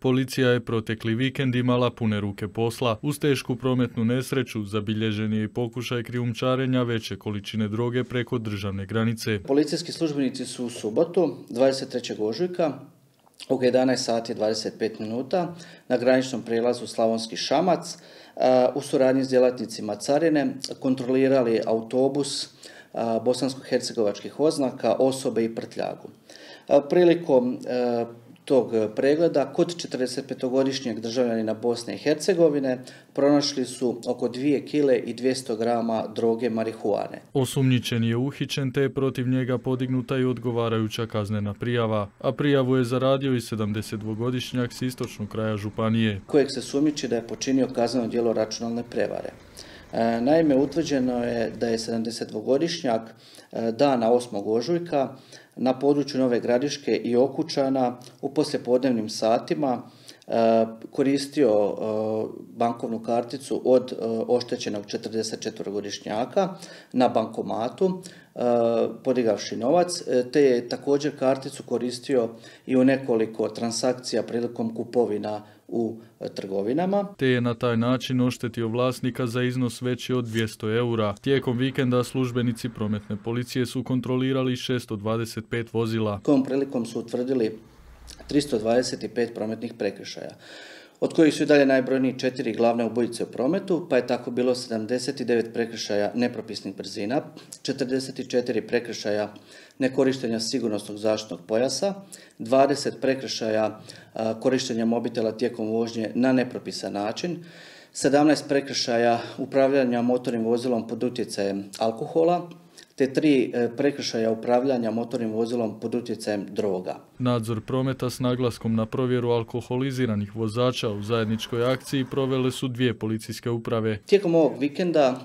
Policija je protekli vikend imala pune ruke posla. Uz tešku prometnu nesreću zabilježen je i pokušaj krijumčarenja veće količine droge preko državne granice. Policijski službenici su u subotu, 23. ožujka, oko 11 sati 25 minuta na graničnom prijelazu Slavonski Šamac u suradnji s djelatnicima carine kontrolirali autobus bosansko-hercegovačkih oznaka, osobe i prtljagu. Prilikom tog pregleda kod 45-godišnjeg državljanina Bosne i Hercegovine pronašli su oko 2 kile i 200 grama droge marihuane. Osumnjičen je uhićen te je protiv njega podignuta i odgovarajuća kaznena prijava, a prijavu je zaradio i 72-godišnjak s istočnog kraja županije, kojeg se sumnjiči da je počinio kazneno djelo računalne prevare. Naime, utvrđeno je da je 72-godišnjak dana 8. ožujka na području Nove Gradiške i Okučana u poslijepodnevnim satima koristio bankovnu karticu od oštećenog 44-godišnjaka na bankomatu, podigavši novac, te je također karticu koristio i u nekoliko transakcija prilikom kupovina u trgovinama. Te je na taj način oštetio vlasnika za iznos veći od 200 eura. Tijekom vikenda službenici prometne policije su kontrolirali 625 vozila. Tom prilikom su utvrdili 325 prometnih prekršaja, od kojih su i dalje najbrojniji 4 glavne ubojice u prometu, pa je tako bilo 79 prekršaja nepropisnih brzina, 44 prekršaja nekorištenja sigurnosnog zaštitnog pojasa, 20 prekršaja korištenja mobitela tijekom vožnje na nepropisan način, 17 prekršaja upravljanja motornim vozilom pod utjecajem alkohola, te 3 prekršaja upravljanja motornim vozilom pod utjecajem droga. Nadzor prometa s naglaskom na provjeru alkoholiziranih vozača u zajedničkoj akciji provele su 2 policijske uprave. Tijekom ovog vikenda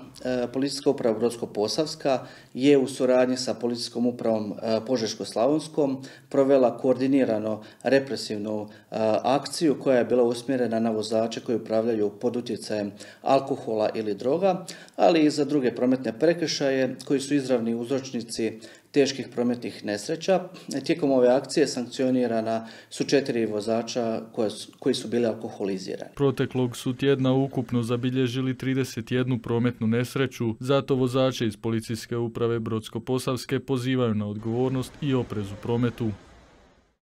Policijska uprava Brodsko-Posavska je u suradnji sa Policijskom upravom Požeško-slavonskom provela koordinirano represivnu akciju koja je bila usmjerena na vozače koji upravljaju pod utjecajem alkohola ili droga, ali i za druge prometne prekršaje koji su izravni uzročnici teških prometnih nesreća. Tijekom ove akcije sankcionirana su 4 vozača koji su bili alkoholizirani. Proteklog su tjedna ukupno zabilježili 31 prometnu nesreću, zato vozače iz Policijske uprave Brodsko-Posavske pozivaju na odgovornost i oprez u prometu.